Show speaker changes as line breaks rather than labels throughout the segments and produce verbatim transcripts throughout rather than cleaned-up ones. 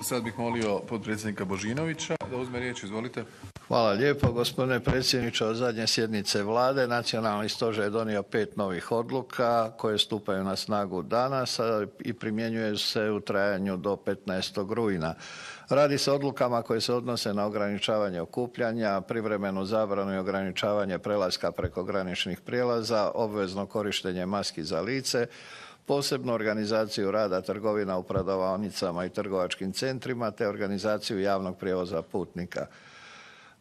Sad bih molio potpredsjednika Božinovića da uzme riječ. Izvolite.
Hvala lijepo, gospodine predsjedniče. Od zadnje sjednice Vlade Nacionalni stožer je donio pet novih odluka koje stupaju na snagu danas i primjenjuju se u trajanju do petnaestog rujna. Radi se o odlukama koje se odnose na ograničavanje okupljanja, privremenu zabranu i ograničavanje prelaska preko graničnih prijelaza, obvezno korištenje maski za lice, posebnu organizaciju rada trgovina u prodavaonicama i trgovačkim centrima te organizaciju javnog prijevoza putnika.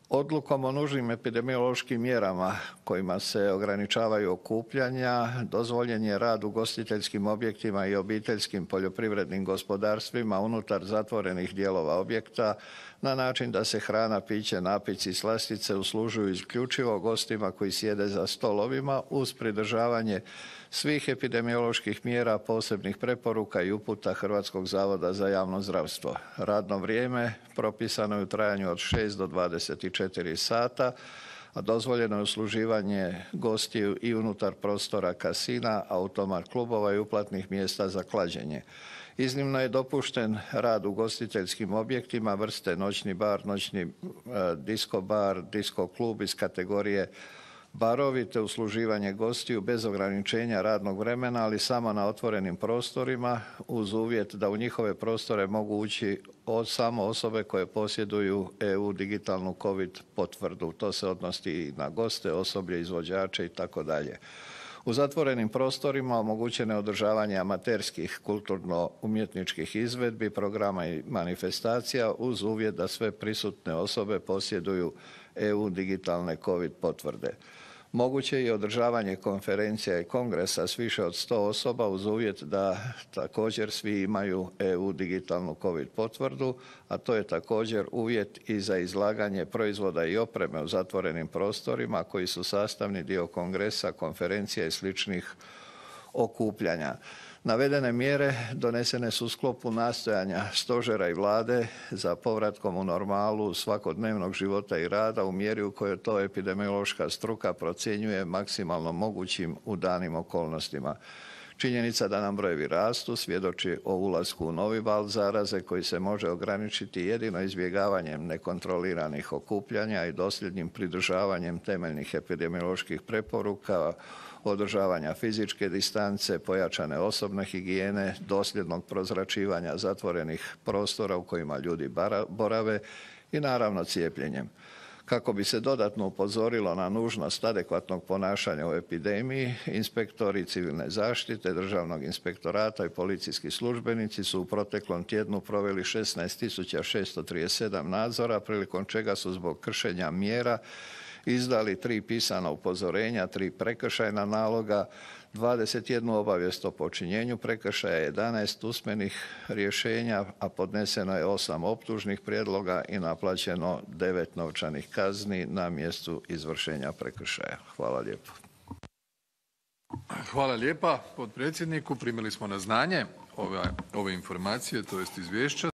Odlukom o nužnim epidemiološkim mjerama kojima se ograničavaju okupljanja dozvoljen je rad u ugostiteljskim objektima i obiteljskim poljoprivrednim gospodarstvima unutar zatvorenih dijelova objekta na način da se hrana, piće, napici i slastice uslužuju isključivo gostima koji sjede za stolovima uz pridržavanje svih epidemioloških mjera, posebnih preporuka i uputa Hrvatskog zavoda za javno zdravstvo. Radno vrijeme propisano je u trajanju od šest do dvadeset četiri sata, a dozvoljeno je usluživanje gostiju i unutar prostora kasina, automat klubova i uplatnih mjesta za klađenje. Iznimno je dopušten rad u ugostiteljskim objektima vrste noćni bar, noćni e, disko bar, disko klub iz kategorije barovi te usluživanje gostiju bez ograničenja radnog vremena, ali samo na otvorenim prostorima uz uvjet da u njihove prostore mogu ući od samo osobe koje posjeduju E U digitalnu COVID potvrdu. To se odnosi i na goste, osoblje, izvođače i tako dalje. U zatvorenim prostorima omogućeno je održavanje amaterskih kulturno-umjetničkih izvedbi, programa i manifestacija uz uvjet da sve prisutne osobe posjeduju E U digitalne COVID potvrde. Moguće je i održavanje konferencija i kongresa s više od sto osoba uz uvjet da također svi imaju E U digitalnu COVID potvrdu, a to je također uvjet i za izlaganje proizvoda i opreme u zatvorenim prostorima koji su sastavni dio kongresa, konferencija i sličnih okupljanja. Navedene mjere donesene su u sklopu nastojanja stožera i Vlade za povratkom u normalu svakodnevnog života i rada u mjeri u kojoj to epidemiološka struka procjenjuje maksimalno mogućim u danim okolnostima. Činjenica da nam brojevi rastu svjedoči o ulasku u novi val zaraze koji se može ograničiti jedino izbjegavanjem nekontroliranih okupljanja i dosljednim pridržavanjem temeljnih epidemioloških preporuka, održavanja fizičke distance, pojačane osobne higijene, dosljednog prozračivanja zatvorenih prostora u kojima ljudi borave i naravno cijepljenjem. Kako bi se dodatno upozorilo na nužnost adekvatnog ponašanja u epidemiji, inspektori civilne zaštite, Državnog inspektorata i policijski službenici su u proteklom tjednu proveli šesnaest tisuća šesto trideset sedam nadzora, prilikom čega su zbog kršenja mjera izdali tri pisana upozorenja, tri prekršajna naloga, dvadeset jednu obavijest o počinjenju prekršaja, jedanaest usmenih rješenja, a podneseno je osam optužnih prijedloga i naplaćeno devet novčanih kazni na mjestu izvršenja prekršaja. Hvala lijepo.
Hvala lijepa potpredsjedniku. Primili smo na znanje ove, ove informacije, to jest izvješća.